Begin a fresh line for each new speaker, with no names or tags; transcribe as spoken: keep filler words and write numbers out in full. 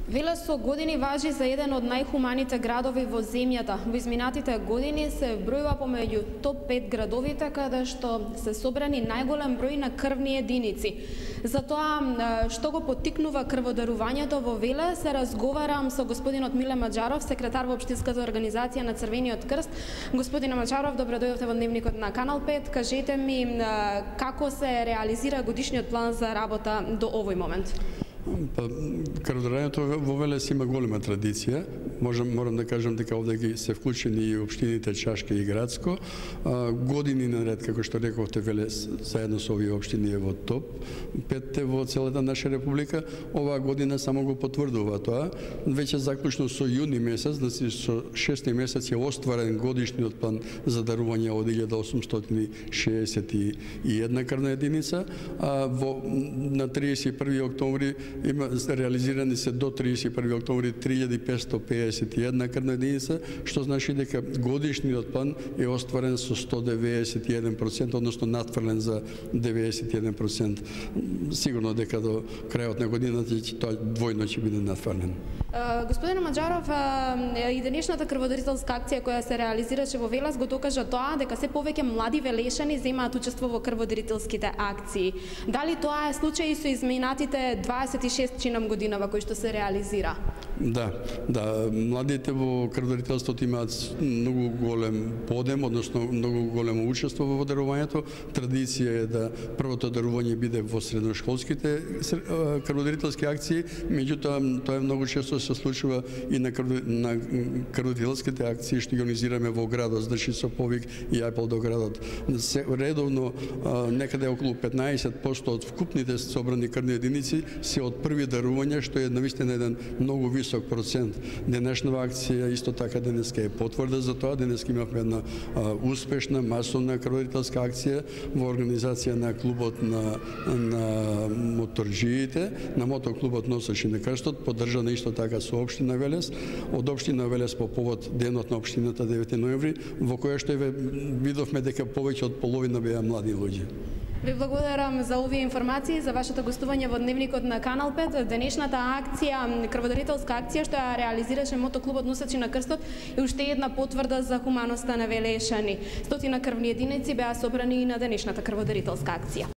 Велес со години важи за еден од најхуманите градови во земјата. Во изминатите години се бројува помеѓу топ пет градовите каде што се собрани најголем број на крвни единици. За тоа што го поттикнува крводарувањето во Велес, се разговарам со господинот Миле Маџаров, секретар во Општинската организација на Црвениот крст. Господине Маџаров, добро дојдовте во Дневникот на Канал пет. Кажете ми како се реализира годишниот план за работа до овој момент?
Па, крводарувањето во Велес има голема традиција. Можам, морам да кажам дека овде ги се вклучени и општините Чашка и Градско. А, години наред, како што рековте, Велес заедно со овие општини е во топ петте во целата наша република. Оваа година само го потврдува тоа. Веќе заклучно со јуни месец, значи со шести месец е остварен годишниот план за дарување од илјада осумстотини шеесет и една крвна единица, а во на триесет и први октомври има реализирани се до триесет и први октомври три илјади петстотини пеесет и една крвна единица, што значи дека годишниот план е остварен со сто деведесет и еден проценти, односно надфрлен за деведесет и еден проценти. Сигурно дека до крајот на годината тоа двојно ќе биде надфрлен.
Господине Маџаров, и денешната крводарителска акција која се реализираше во Велес го докажа тоа дека се повеќе млади велешани земаат учество во крводарителските акции. Дали тоа е случај и со изминатите дваесет и шест чинам година во кој што се реализира?
Да, да, младите во крводарителството имаат многу голем подем, односно многу големо учество во дарувањето. Традиција е да првото дарување биде во средношколските крводарителски акции, меѓутоа тоа е многу често се случува и на крводарителските акции што ги организираме во градот, значи со повик и апел до градот. Се, редовно некаде околу петнаесет проценти од вкупните собрани крвни единици се од први дарувања, што е навистина еден многу висок процент. Денешнава акција исто така денеска е потврда за тоа. Денеска имавме една а, успешна масовна крводарителска акција во организација на клубот на, на моторџиите, на мотоклубот Носачи на крстот, поддржана исто така со општина Велес, од општина Велес по повод денот на општината девети ноември, во која што видовме дека повеќе од половина беа млади луѓе.
Ви благодарам за овие информации, за вашето гостување во Дневникот на Канал пет. Денешната акција, крводарителска акција што ја реализираше мотоклубот Носачи на крстот, е уште една потврда за хуманоста на велешани. Стотина крвни единици беа собрани и на денешната крводарителска акција.